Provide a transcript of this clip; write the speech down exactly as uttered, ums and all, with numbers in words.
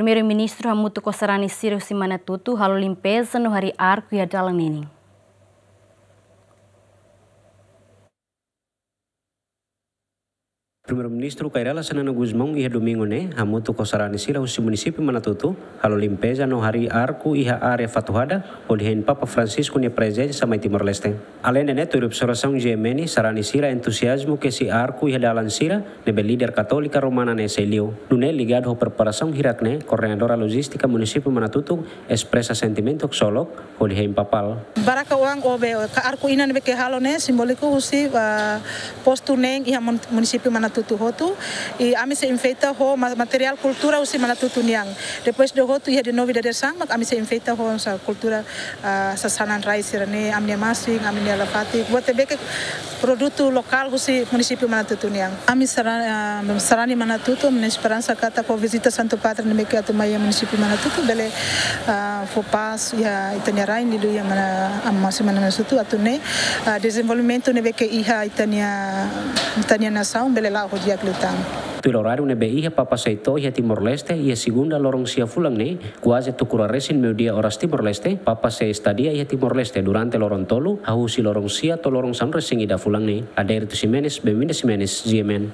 Primeiru-Ministru hamutuk ho sarani sira husi Manatutu halo limpeza no harii arku iha dalan ninin. Primeiru-Ministru Kay Rala Xanana Gusmão iha domingu ne'e hamutuk ho sarani sira husi munisípiu Manatutu halo limpeza no harii arku iha área Fatuhada, hodi hein Papa Francisco nia prezensa mai Timor-Leste. Aleinde ne'e, tuir observasaun G M N, sarani sira entuziazmu kesi arku iha dalan sira ne'ebé líder Katólika Romana ne'e sei liu. Nune'e, ligadu ho preparasaun hirak ne'e, koordenadora lojístika munisípiu Manatutu espresa sentimentu ksolok hodi hein Papal. Baraka oan obe ka arku inan ne'ebé ke halo ne'e simbóliku husi, ah, postu neen iha mun-, munisípiu Manatutu hotu. I ami sei enfeita ho ma-, materiál kultura husi Manatutu nian. Depois de hotu iha de novidade sang, mak ami sei enfeita ho sa kultura, ah, sasanan rai sira-ne'e, ami-nia masin, ami-nia lafatik. Buat ne'ebé ke produtu lokál husi munisípiu Manatutu nian. Ami sara-, ah, sarani Manatutu, ami-nia esperansa katak ho vizita Santu Padre ne'ebé ke atu mai iha munisípiu Manatutu, bele, ah, fó pás iha ita-nia rain, liuliu iha Mana-, ah, munisípiu Manatutu, atu nune'e, ah, dezenvolvimentu ne'ebé ke iha ita-nia, ita-nia nasaun, bele la'o ho di'ak liután. Tuir oráriu ne'ebé iha Papa sei to'o iha Timor-Leste, iha segunda loron sia fulan ne'e, kuaze tuku rua resin meiudia oras Timor-Leste, Papa sei estadia iha Timor-Leste durante loron tolu, hahú husi loron sia to'o loron sanulu resin ida fulan ne'e. Adérito Ximenes, Benvinda Ximenes, G M N.